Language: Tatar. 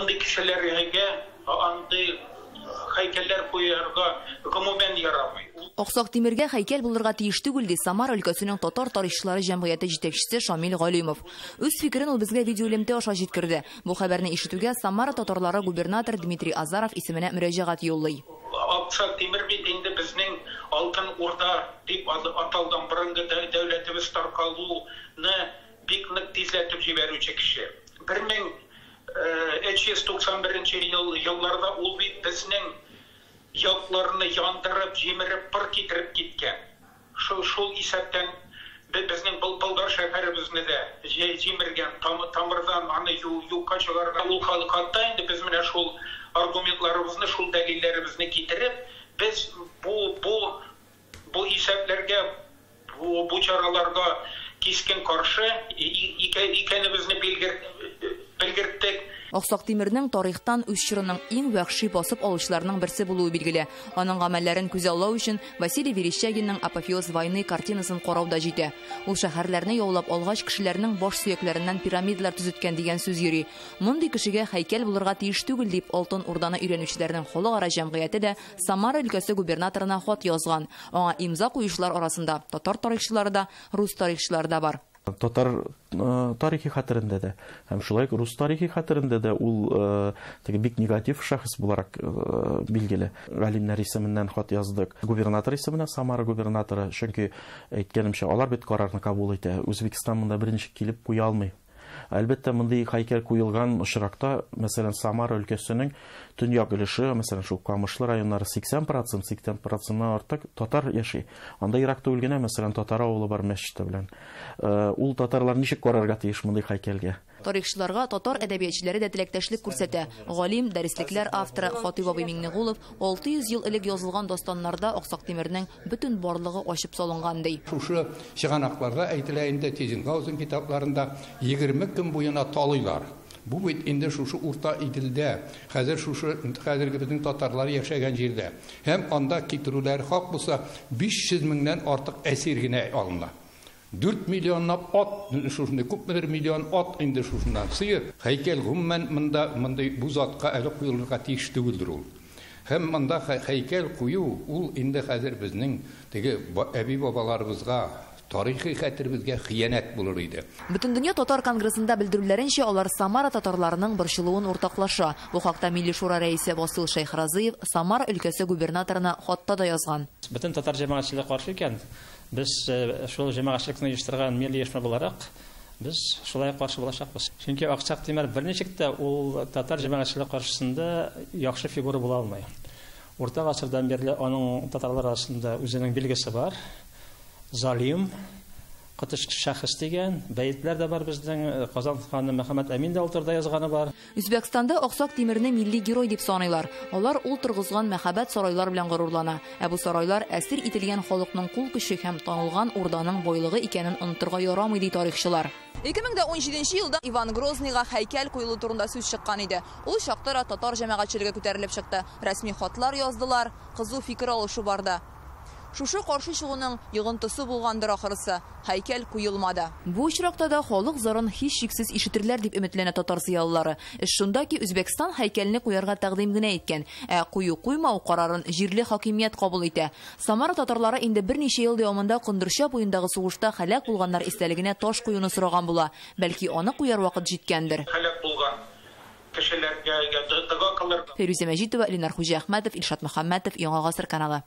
Андый кешеләргә андый һәйкәлләр куярга гомумән ярамый. Аксак Тимергә һәйкәл булырга тиеш түгел, ди Самара өлкәсенең татар тарихчылары җәмгыяте җитәкчесе Шамил Галимов. Үз фикерен ул безгә видеоэлемтә аша җиткерде. Бу хәбәрне ишетүгә Самара татарлары губернатор Дмитрий Азаров исеменә мөрәҗәгать юллый. Аксак Тимер бит инде безнең Алтын Урда дип аталган борынгы дәүләтебез таркалуны бик нык тизләтеп җибәрүче кеше. 1391 елларда ул бит безнең якларны яндырып, җимереп, пыр китереп киткән. Шул исәптән безнең Болгар шәһәребезне дә җимергән, тамырдан аны юкка чыгарган. Ул хатта инде без менә шул аргументларыбызны, шул дәлилләребезне китереп, без бу исәпләргә, бу чараларга кискен каршы икәнебезне белгерттек. Аксак Тимернең тарихтан үз чорының иң вәхши басып алучыларының берсе булуы билгеле. Аның гамәлләрен күзаллау өчен Василий Верещагинның «Апофеоз войны» картинасын карау да җитә. Ул шәһәрләрне яулап алгач, кешеләрнең баш сөякләреннән пирамидалар төзеткән дигән сүз йөри. Мондый кешегә һәйкәл булырга тиеш түгел дип Алтын Урданы өйрәнүчеләрнең халыкара җәмгыяте дә Самара өлкәсе губернаторына хат язган. Аңа имза куючылар арасында татар тарихчылары да, рус тарихчылары да бар. Татар тарихи хәтерендә дә һәм шулай ук рус тарихи хәтерендә дә ул теге бик негатив шәхес буларак билгеле. Галимнәр исеменнән хат яздык. Губернатор исеменә, Самара губернаторы, чөнки әйткәнемчә, алар бит карарны кабул итә. Үзбекстан монда берничек килеп куя алмый. Әлбәттә, мондый һәйкәл куелган очракта, мәсәлән, Самара өлкәсенең төньяк өлеше, мәсәлән, шул Камышлы районнары 80%-ннан артык татар яши. Анда ерак түгел генә, мәсәлән, татар авылы бар мәчете белән. Ул татарлар ничек карарга тиеш мондый һәйкәлгә? Тарихчыларга татар әдәбиятчылары да теләктәшлек күрсәтә. Галим, дәреслекләр авторы Хатыйп абый Миңнегулов 600 ел элек язылган дастаннарда Аксак Тимернең бөтен барлыгы ачып салынган ди. Шушы чыганакларда әйтелә инде, Тизенгаузен китапларында 20 көн буена талыйлар. Бу бит инде шушы Урта Иделдә, хәзер шушы хәзерге безнең татарлар яшәгән җирдә. Һәм анда китерүләр хак булса 500 меңнән артык әсир генә алына. 4 миллионлап ат, шушындай күпмедер миллион ат инде шушыннан сыер. Һәйкәл гомумән монда мондый бу затка әле куелырга тиеш түгелдер ул. Һәм монда һәйкәл кую ул инде хәзер безнең теге әби-бабаларыбызга, тарихи хәтеребезгә хыянәт булыр иде. Бөтендөнья татар конгрессында белдерүләренчә, алар Самара татарларының борчылуын уртаклаша. Бу хакта Милли шура рәисе Васил Шәйхразыев Самара өлкәсе губернаторына хатта да язган. Бөтен татар җәмәгатьчелеге каршы икән, без шул җәмәгатьчелекне оештырган милли оешма буларак, без шулай каршы булачакбыз. Чөнки Аксак Тимер берничек тә ул татар җәмәгатьчелеге каршысында яхшы фигура була алмый. Урта гасырдан бирле аның татарлар арасында үзенең билгесе бар. Залим, коточкыч шәхес дигән бәетләр дә бар безнең. Казан ханы Мөхәммәд Әмин дә ул турыда язганы бар. Үзбәкстанда Аксак Тимерне милли герой дип саныйлар. Алар ул торгызган мәһабәт сарайлар белән горурлана. Ә бу сарайлар әсир ителгән халыкның кул көче һәм танылган урданың байлыгы икәнен онытырга ярамый ди тарихчылар. 2017 елда Иван Грозныйга һәйкәл куелу турында сүз чыккан иде. Ул чакта да татар җәмәгатьчелеге күтәрелеп чыкты. Рәсми хатлар яздылар, кызу фикер алышу барды. Шушы каршы чыгуның йогынтысы булгандыр ахырысы. Һәйкәл куелмады. Бу очракта да халык зарын һичшиксез ишетерләр дип өметләнә татар зыялылары. Эш шунда ки, Үзбәкстан һәйкәлне куярга тәкъдим генә иткән, ә кую-куймау карарын җирле хакимият кабул итә. Самара татарлары инде берничә ел дәвамында Кондырча буендагы сугышта һәлак булганнар истәлегенә таш куюны сораган була. Бәлки аны куяр вакыт җиткәндер. Һәлак булган кешеләргә дога кылыр. Фәйрүзә Мәҗитова, Ленар Хуҗиәхмәтов, Илшат Мөхәммәтов, Яңа Гасыр каналы.